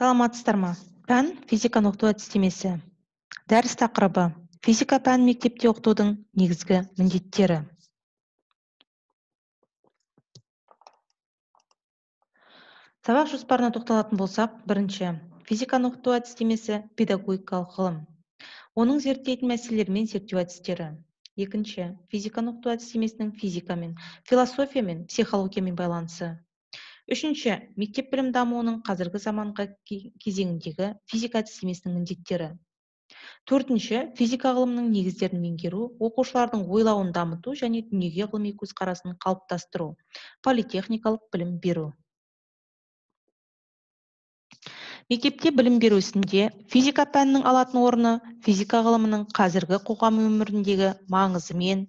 Саламатсыздар ма? Пән физиканы оқыту әдістемесі. Дәріс тақырыбы: физика пәнін мектепте оқытудың негізгі міндеттері. Сабақ жоспарына тоқталатын болсақ, бірінші, физиканы оқыту әдістемесі педагогикалық ғылым. Оның зерттейтін мәселелермен зерттеу әдістері. Екінші, физиканы оқыту әдістемесінің физикамен, философиямен, психологиямен байланысы. Үшінші, мектеп білім дамуының қазіргі заманғы кезеңіндегі физика әдістемесінің міндеттері. Төртінші, физика ғылымының негіздерін меңгеру, оқушылардың ойлауын дамыту және дүниеге ғылыми көзқарасын қалыптастыру, политехникалық білім беру. Мектепте білім беру ісінде физика пәнінің алатын орны физика ғылымының қазіргі қоғам өміріндегі маңызымен,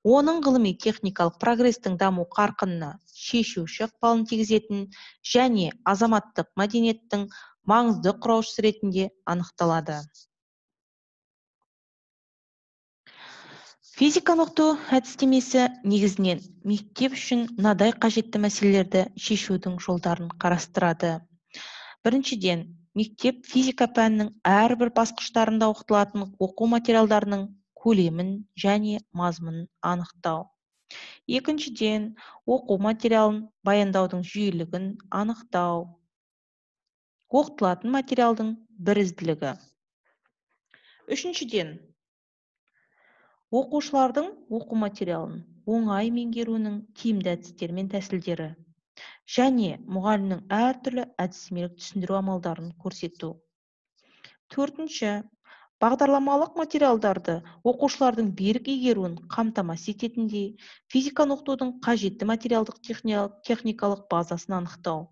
оның ғылыми техникалық прогрестің даму қарқынына шешуші ықпалын тигізетін және азаматтық мәдениеттің маңызды құраушысы ретінде анықталады. Физиканы оқыту әдістемесі негізінен мектеп үшін мынадай қажетті мәселелерді шешудің жолдарын қарастырады. Біріншіден, мектеп физика пәнінің әрбір басқыштарында оқытылатын оқу материалдарының көлемін және мазмұнын анықтау. Екіншіден, оқу материалын баяндаудың жүйелігін анықтау. Оқытылатын материалдың бірізділігі. Үшіншіден, оқушылардың оқу материалын оңай меңгеруінің тиімді әдістері мен тәсілдері және мұғалімнің әртүрлі әдістемелік түсіндіру амалдарын көрсету. Төртінші, бағдарламалық материалдарды оқушылардың берік игеруін қамтамасыз ететіндей физиканы оқытудың қажетті материалдық техникалық базасын анықтау.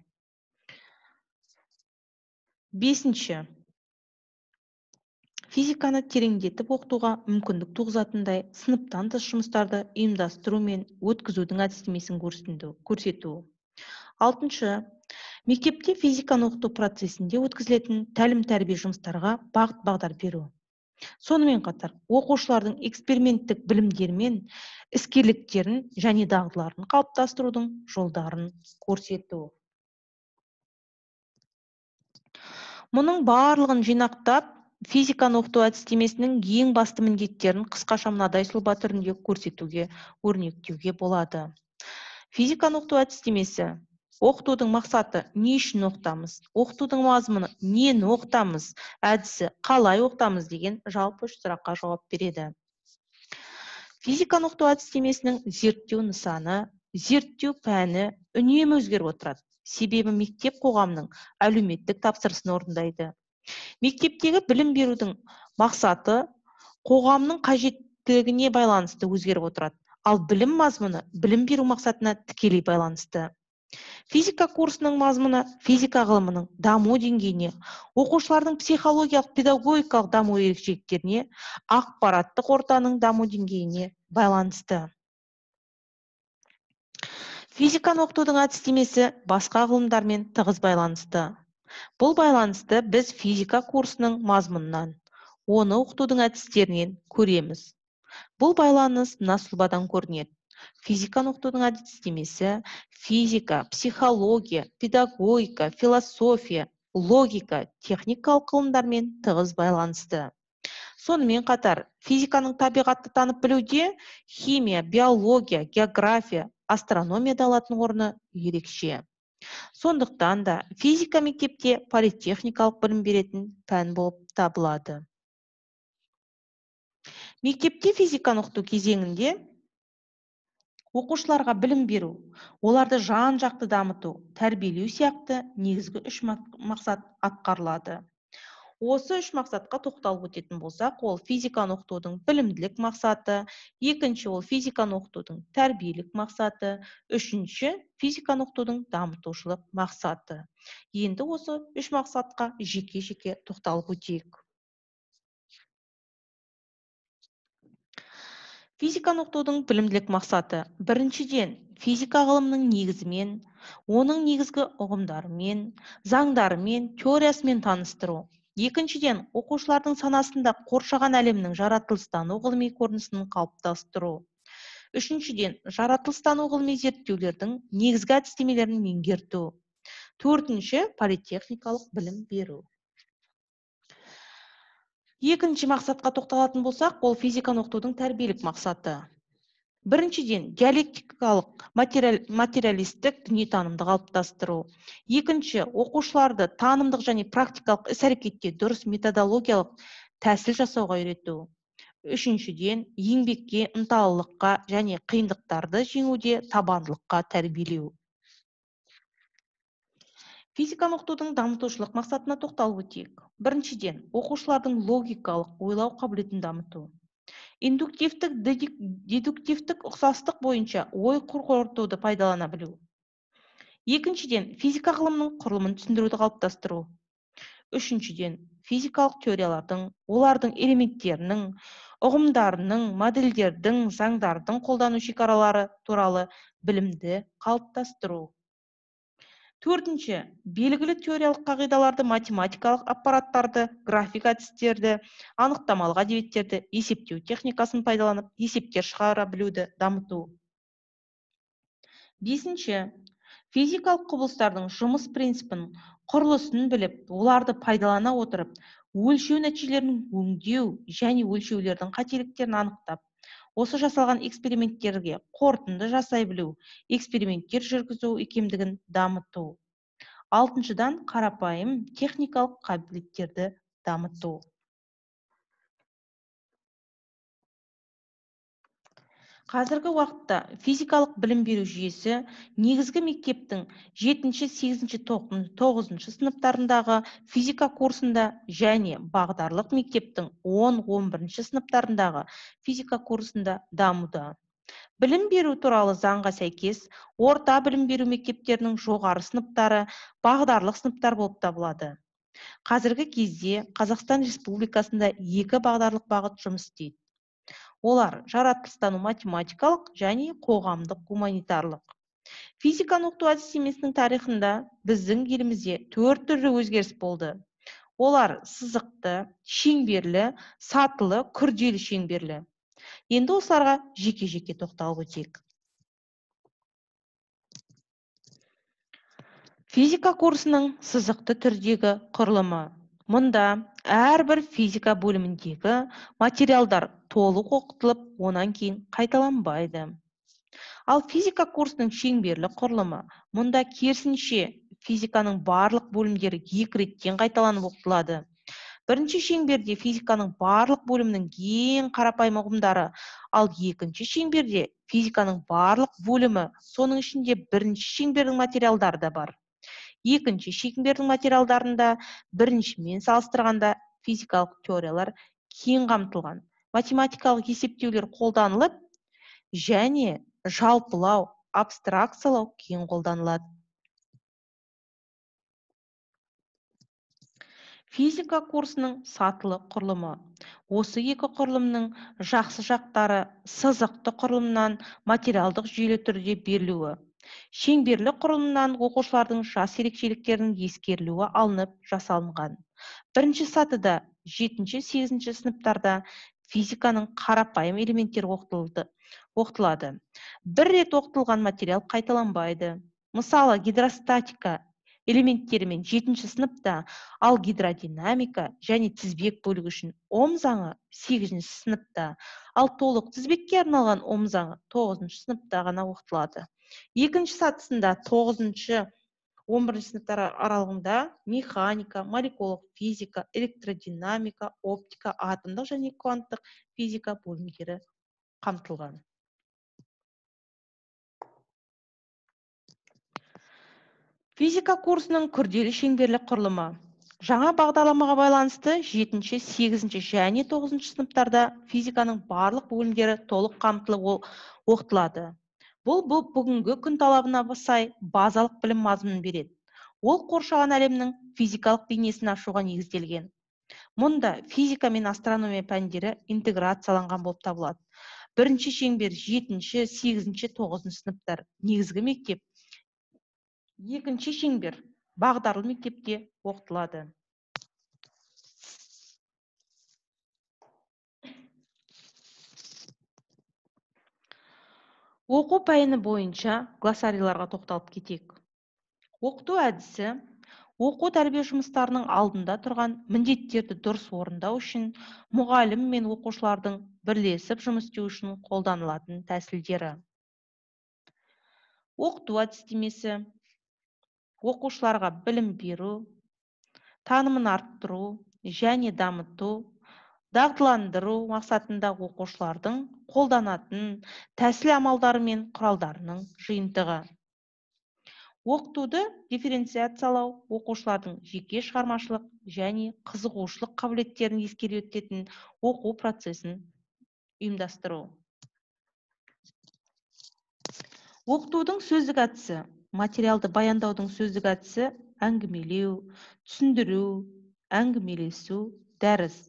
Бесінші, физиканы тереңдетіп оқытуға мүмкіндік туғызатындай сыныптан тыс жұмыстарды ұйымдастыру мен өткізудің әдістемесін көрсету. Алтыншы, мектепте физиканы оқыту процесінде өткізілетін тәлім-тәрбие жұмыстарға бағыт-бағдар беру. Сонымен қатар, оқушылардың эксперименттік білімдері мен іскерліктерін және дағдыларын қалыптастырудың жолдарын көрсету. Мұның барлығын жинақтап, физиканы оқыту әдістемесінің ең басты міндеттерін қысқаша мынадай сұлба түрінде көрсетуге, өрнектеуге болады. Физиканы оқыту әдістемесі: оқытудың мақсаты не үшін оқытамыз, оқытудың мазмұны нені оқытамыз, әдісі қалай оқытамыз деген жалпы үш сұраққа жауап береді. Физиканы оқыту әдістемесінің зерттеу нысаны, зерттеу пәні үнемі өзгеріп отырады. Себебі мектеп қоғамның әлеуметтік тапсырысын орындайды. Мектептегі білім берудің мақсаты қоғамның қажеттілігіне байланысты өзгеріп отырады. Ал білім мазмұны білім беру мақсатына тікелей байланысты. Физика курсының мазмұны физика ғылымының даму деңгейіне, оқушылардың психологиялық педагогикалық даму ерекшеліктеріне, ақпараттық ортаның даму деңгейіне байланысты. Физиканы оқытудың әдістемесі басқа ғылымдармен тығыз байланысты. Бұл байланысты біз физика курсының мазмұнынан, оны оқытудың әдістерінен көреміз. Бұл байланыс мына сұлбадан көрінеді. Физиканы оқытудың әдістемесі физика, психология, педагогика, философия, логика, техникалық ғылымдармен тығыз байланысты. Сонымен қатар, физиканың табиғатты танып білуде химия, биология, география, астрономияда алатын орны ерекше. Сондықтан да физика мектепте политехникалық білім беретін пән болып табылады. Мектепте физиканы оқыту кезеңінде оқушыларға білім беру, оларды жан-жақты дамыту, тәрбиелеу сияқты негізгі үш мақсат атқарылады. Осы үш мақсатқа тоқталып өтетін болсақ, ол физиканы оқытудың білімділік мақсаты, екінші ол физиканы оқытудың тәрбиелік мақсаты, үшінші физиканы оқытудың дамытушылық мақсаты. Енді осы үш мақсатқа жеке-жеке тоқталып өтейік. Физиканы оқытудың білімділік мақсаты: біріншіден, физика ғылымының негізімен, оның негізгі ұғымдарымен, заңдарымен, теориясымен таныстыру. Екіншіден, оқушылардың санасында қоршаған әлемнің жаратылыстану ғылыми көрінісін қалыптастыру. Үшіншіден, жаратылыстану ғылыми зерттеулердің негізгі әдістемелерін меңгерту. Төртінші политехникалық білім беру. Екінші мақсатқа тоқталатын болсақ, ол физиканы оқытудың тәрбиелік мақсаты. Біріншіден, диалектикалық материалистік дүниетанымды қалыптастыру. Екінші, оқушыларды танымдық және практикалық іс-әрекетте дұрыс методологиялық тәсіл жасауға үйрету. Үшіншіден, еңбекке, ынталылыққа және қиындықтарды жеңуде табандылыққа тәрбиелеу. Физиканы оқытудың дамытушылық мақсатына тоқталып өтейік. Біріншіден, оқушылардың логикалық ойлау қабілетін дамыту. Индуктивтік, дедуктивтік ұқсастық бойынша ой қорытуды пайдалана білу. Екіншіден, физика ғылымының құрылымын түсіндіруді қалыптастыру. Үшіншіден, физикалық теориялардың, олардың элементтерінің, ұғымдарының, модельдердің, заңдардың қолдану шекаралары туралы білімді қалыптастыру. Төртінші, белгілі теориялық қағидаларды, математикалық аппараттарды, график әдістерді, анықтамалық әдебиеттерді, есептеу техникасын пайдаланып, есептер шығара білуді дамыту. Бесінші, физикалық құбылыстардың жұмыс принципін, құрылысын біліп, оларды пайдалана отырып, өлшеу нәтижелерін өңдеу және өлшеулердің қателіктерін анықтап, осы жасалған эксперименттерге қорытынды жасай білу, эксперименттер жүргізу икемдігін дамыту. Алтыншыдан, қарапайым техникалық қабілеттерді дамыту. Қазіргі уақытта физикалық білім беру жүйесі негізгі мектептің 7-ші, 8-ші, 9-ші сыныптарындағы физика курсында және бағдарлық мектептің 10-11-ші сыныптарындағы физика курсында дамуда. Білім беру туралы заңға сәйкес, орта білім беру мектептерінің жоғары сыныптары бағдарлық сыныптар болып табылады. Қазіргі кезде Қазақстан Республикасында 2 бағдарлық бағыт жұмыс істейді. Олар жаратылыстану математикалық және қоғамдық гуманитарлық. Физиканы оқыту әдістемесінің тарихында біздің елімізде 4 түрлі өзгеріс болды. Олар сызықты, шеңберлі, сатылы, күрделі шеңберлі. Енді осыларға жеке-жеке тоқталып өтейік. Физика курсының сызықты түрдегі құрылымы. Мұнда әрбір физика бөліміндегі материалдар толық оқытылып, онан кейін қайталанбайды. Ал физика курсының шеңберлі құрылымы. Мұнда керісінше физиканың барлық бөлімдері 2 реттен қайталанып оқытылады. Бірінші шеңберде физиканың барлық бөлімінің ең қарапайым ұғымдары, ал екінші шеңберде физиканың барлық бөлімі, соның ішінде бірінші шеңбердің материалдары да бар. Екінші шеңбердің материалдарында біріншімен салыстырғанда физикалық теориялар кең қамтылған, математикалық есептеулер қолданылып, және жалпылау, абстракциялау кең қолданылады. Физика курсының сатылы құрылымы. Осы екі құрылымның жақсы жақтары сызықты құрылымнан материалдық жүйелі түрде берілуі. Шеңберлі құрылымнан оқушылардың жас ерекшеліктерінің ескерілуі алынып жасалынған. Бірінші сатыда 7-ші, 8-ші сыныптарда физиканың қарапайым элементтері оқытылады. Бір рет оқытылған материал қайталанбайды. Мысалы, гидростатика элементтерімен 7-ші сыныпта, ал гидродинамика және тізбек бөлігі үшін Ом заңы 8-ші сыныпта, ал толық тізбекке арналған Ом заңы 9-ші сыныпта ғана оқытылады. Екінші сатысында 9-ші 11-ші сыныптар аралығында механика, молекулалық физика, электродинамика, оптика, атомдық және кванттық физика бөлімдері қамтылған. Физика курсының күрделі шеңберлі құрылымы. Жаңа бағдарламаға байланысты 7-ші, 8-ші және 9-ші сыныптарда физиканың барлық бөлімдері толық қамтылып оқытылады. Бұл бүгінгі күн талабына сай базалық білім мазмұнын береді. Ол қоршаған әлемнің физикалық бейнесін ашуға негізделген. Мұнда физика мен астрономия пәндері интеграцияланған болып табылады. Бірінші шеңбер 7-ші, 8-ші, 9-ші сыныптар негізгі мектеп. Екінші шеңбер бағдарлы мектепте оқытылады. Оқу пәні бойынша глоссарийларға тоқталып кетейік. Оқыту әдісі оқу тәрбие жұмыстарының алдында тұрған міндеттерді дұрыс орындау үшін мұғалім мен оқушылардың бірлесіп жұмыс істеу үшін қолданылатын тәсілдері. Оқыту әдістемесі оқушыларға білім беру, танымын арттыру және дамыту, дағдыландыру мақсатында оқушылардың қолданатын тәсіл амалдары мен құралдарының жиынтығы. Оқытуды дифференциациялау оқушылардың жеке шығармашылық және қызығушылық қабілеттерін ескере өтетін оқу процесін ұйымдастыру. Оқытудың сөздік әдісі материалды баяндаудың сөздік әдісі әңгімелеу, түсіндіру, әңгімелесу, дәріс.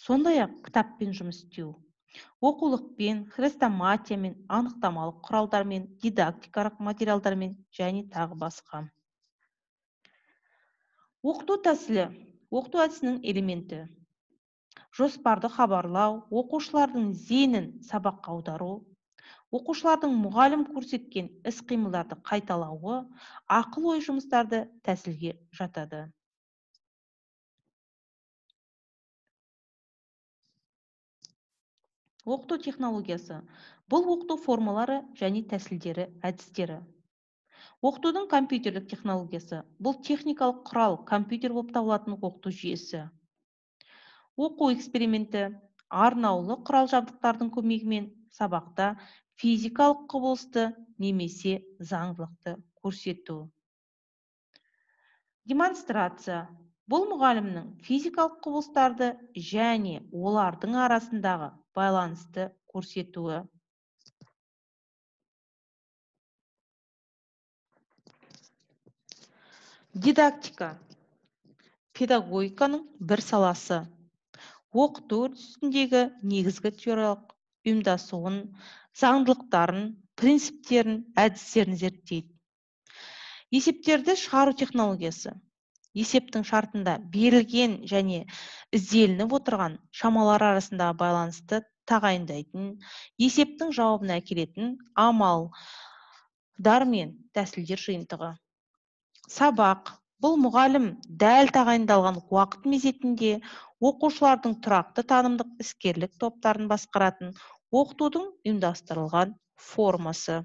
Сондай-ақ кітаппен жұмыс істеу. Оқулықпен, хрестоматиямен, анықтамалық құралдармен, дидактикалық материалдармен және тағы басқа. Оқыту тәсілі оқыту әдісінің элементі. Жоспарды хабарлау, оқушылардың зейінін сабаққа аудару, оқушылардың мұғалім көрсеткен іс-қимылдарды қайталауы, ақыл-ой жұмыстарды тәсілге жатады. Оқыту технологиясы бұл оқыту формалары және тәсілдері әдістері. Оқытудың компьютерлік технологиясы бұл техникалық құрал компьютер болып табылатын оқыту жүйесі. Оқу эксперименті арнаулы құрал жабдықтардың көмегімен сабақта физикалық құбылысты немесе заңдылықты көрсету. Демонстрация бұл мұғалімнің физикалық құбылыстарды және олардың арасындағы байланысты көрсетуі. Дидактика педагогиканың бір саласы. Оқыту үрдісіндегі негізгі теориялық ұйымдасуын, заңдылықтарын, принциптерін, әдістерін зерттейді. Есептерді шығару технологиясы. Есептің шартында берілген және ізделініп отырған шамалар арасындағы байланысты тағайындайтын, есептің жауабына әкелетін амалдар мен тәсілдер жиынтығы. Сабақ бұл мұғалім дәл тағайындалған уақыт мезетінде оқушылардың тұрақты танымдық іскерлік топтарын басқаратын оқытудың ұйымдастырылған формасы.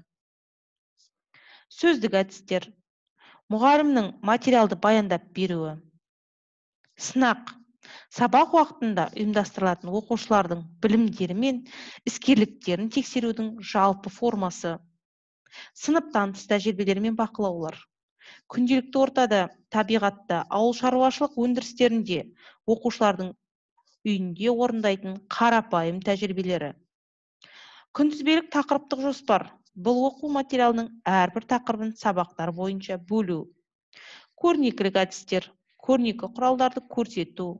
Сөздік әдістер. Мұғалімнің материалды баяндап беруі. Сынақ. Сабақ уақытында ұйымдастырылатын оқушылардың білімдері мен іскерліктерін тексерудің жалпы формасы. Сыныптан тыс тәжірибелер мен бақылаулар. Күнделікті ортада, табиғатта, ауыл шаруашылық өндірістерінде оқушылардың үйінде орындайтын қарапайым тәжірибелері. Күнтізбелік тақырыптық жоспар. Бұл оқу материалының әрбір тақырыбын сабақтар бойынша бөлу. Көрнекілік әдістер. Көрнекі құралдарды көрсету.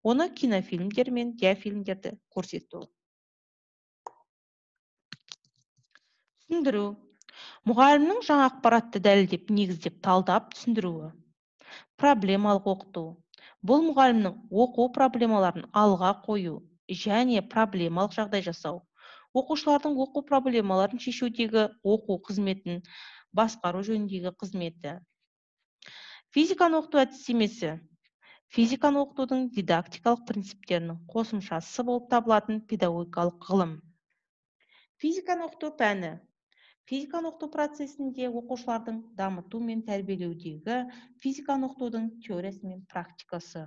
Оны кинофильмдер мен диафильмдерді көрсету. Түсіндіру. Мұғалімнің жаңа ақпаратты дәлелдеп, негіздеп, талдап түсіндіруі. Проблемалық оқыту. Бұл мұғалімнің оқу проблемаларын алға қою және проблемалық жағдай жасау. Оқушылардың оқу проблемаларын шешудегі оқу қызметін басқару жөніндегі қызметі. Физиканы оқыту әдістемесі. Физиканы оқытудың дидактикалық принциптерінің қосымшасы болып табылатын педагогикалық ғылым. Физиканы оқыту пәні. Физиканы оқыту процесінде оқушылардың дамыту мен тәрбиелеудегі физиканы оқытудың теориясы мен практикасы.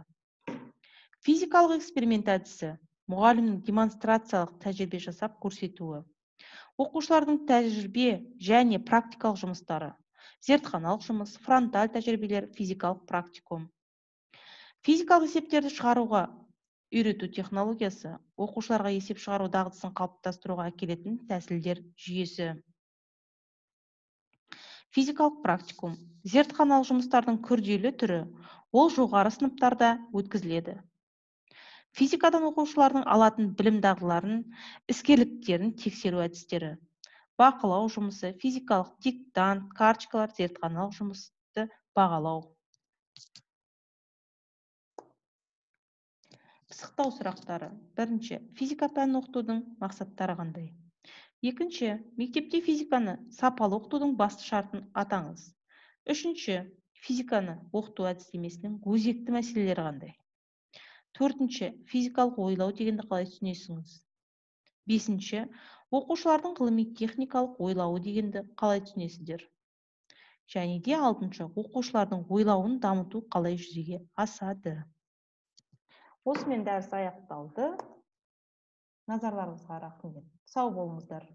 Физикалық эксперимент әдісі. Мұғалімнің демонстрациялық тәжірибе жасап көрсетуі. Оқушылардың тәжірибе және практикалық жұмыстары. Зертханалық жұмыс, фронталь тәжірибелер, физикалық практикум. Физикалық есептерді шығаруға үйрету технологиясы. Оқушыларға есеп шығару дағдысын қалыптастыруға әкелетін тәсілдер жүйесі. Физикалық практикум. Зертханалық жұмыстардың күрделі түрі, ол жоғары сыныптарда өткізіледі. Физикадан оқушылардың алатын білім дағдыларын, іскерліктерін тексеру әдістері. Бақылау жұмысы, физикалық диктант, карточкалар, зертханалық жұмысты бағалау. Пысықтау сұрақтары. Бірінші, физика пәнін оқытудың мақсаттары қандай? Екінші, мектепте физиканы сапалы оқытудың басты шартын атаңыз. Үшінші, Физиканы оқыту әдістемесінің өзекті мәселелері қандай? Төртінші, физикалық ойлау дегенді қалай түсінесіңіз? Бесінші, оқушылардың ғылыми техникалық ойлауы дегенді қалай түсінесіздер? Және де алтыншы, оқушылардың ойлауын дамыту қалай жүзеге асады? Осымен дәріс аяқталды. Назарларыңызға рахмет. Сау болыңыздар.